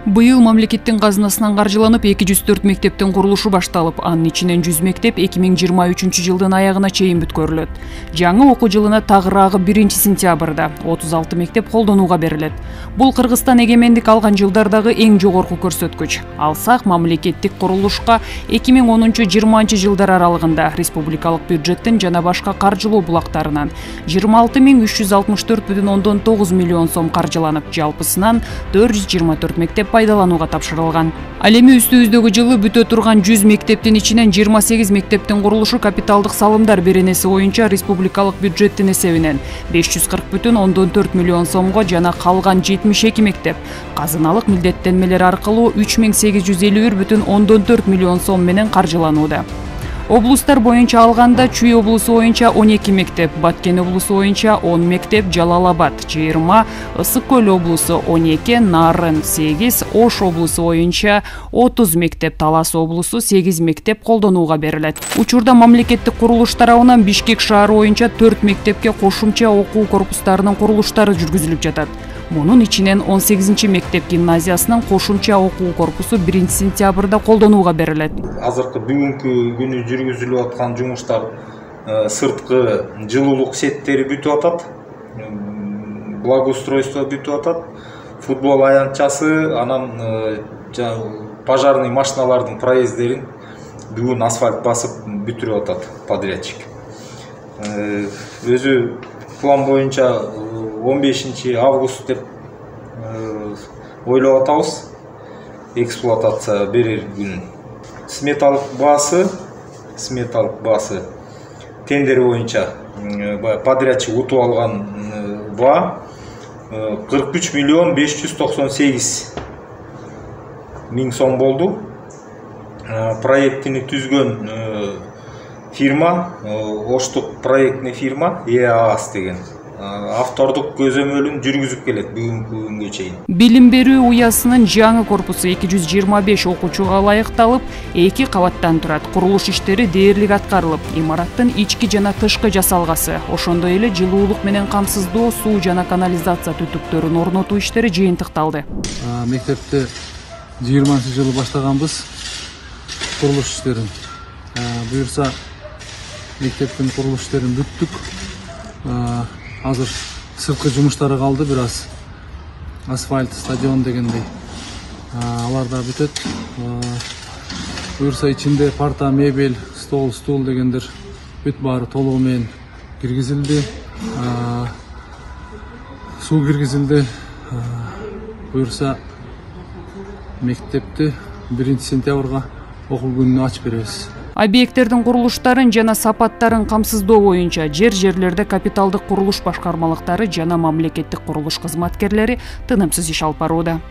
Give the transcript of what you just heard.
Быйыл мамлекеттин казынасынан каржыланып 204 мектептин курулушу башталып, анын ичинен 100 мектеп 2023-жылдын аягына чейин бүткөрүлөт. Жаңы окуу жылына тагыраагы 1-сентябрда 36 мектеп колдонууга берилет. Бул Кыргызстан эгемендик алган жылдардагы эң жогорку көрсөткүч. Алсак, мамлекеттик курулушка 2010-20 жылдар аралыгында республикалык бюджеттин жана башка каржылоо булактарынан 26.364,9 миллион сом каржыланып, жалпысынан 424 мектеп пайдаланууга тапшырылган. Ал эми үстүбүздөгү жылы бүтө турган 100 мектептин ичинен 28 мектептин курулушу капиталдык салымдар беренеси боюнча республикалык бюджеттин эсебинен 540,4 миллион сомго жана калган 72 мектеп казыналык милдеттенмелер аркылуу 3.851,4 миллион сом менен каржыланууда. Облустар боюнча алганда Чүй облусу боюнча 12 мектеп, Баткен облусу боюнча 10 мектеп, Жалал-Абад 20, Ысык-Көл облусу 12, Нарын 8, Ош облусу боюнча 30 мектеп, Талас облусу 8 мектеп колдонууга берилет. Учурда мамлекеттик курулуш тарабынан Бишкек шаары боюнча 4 мектепке кошумча окуу корпустарынын курулуштары жүргүзүлүп жатат. Мунун ичинен 18 мектеп гимназиясынын кошумча окуу корпусу 1-сентябрда колдонууга берилет. Азыркы бүгүнкү күнү жүргүзүлүп аткан жумуштар сырткы жылуулук сеттери бүтүп атат, благоустройство бүтүп атат, футбол аянтчасы, анан пожарный машиналардын проезддерин бүгүн асфальт басып бүтүрүп атат подрядчик. Өзү план боюнча 15 август деп ойлоп атабыз эксплуатация берер күнүн. Сметалык баасы тендер боюнча подрядчик утуп алган баа 43,598,000 сом болду. Проектини түзгөн фирма, Оштук проектный фирма ЕААС деген автордук көзөмөлүн жүргүзүп келет бүгүнкү күнгө чейин. Билим берүү уясынын жаңы корпусу 225 окуучуга ылайыкталып, 2 кабаттан турат. Курулуш иштери дээрлик аткарылып, имараттын ички жана тышкы жасалгасы, ошондой эле жылуулук менен камсыздоо, суу жана канализация түтүктөрүн орнотуу иштери жыйынтыкталды. Мектепти 20-жылы баштаганбыз курулуш иштерин. Буюрса мектептин курулуш иштерин бүттүк. Азыр сырткы жумуштары калды, бир аз асфальт, стадион дегендей. Алар да бүтөт. Буюрса ичинде парта, мебель, стол, стул дегендер бүт баары толугу менен киргизилди. Суу киргизилди. Буюрса мектепти 1-сентябрга окуу күнүнө ачып беребиз. Объекттердин курулуштарын жана сапаттарын камсыздоо боюнча жерлерде капиталдык курулуш башкармалыктары жана мамлекеттик курулуш кызматкерлери тынымсыз иш алып барууда.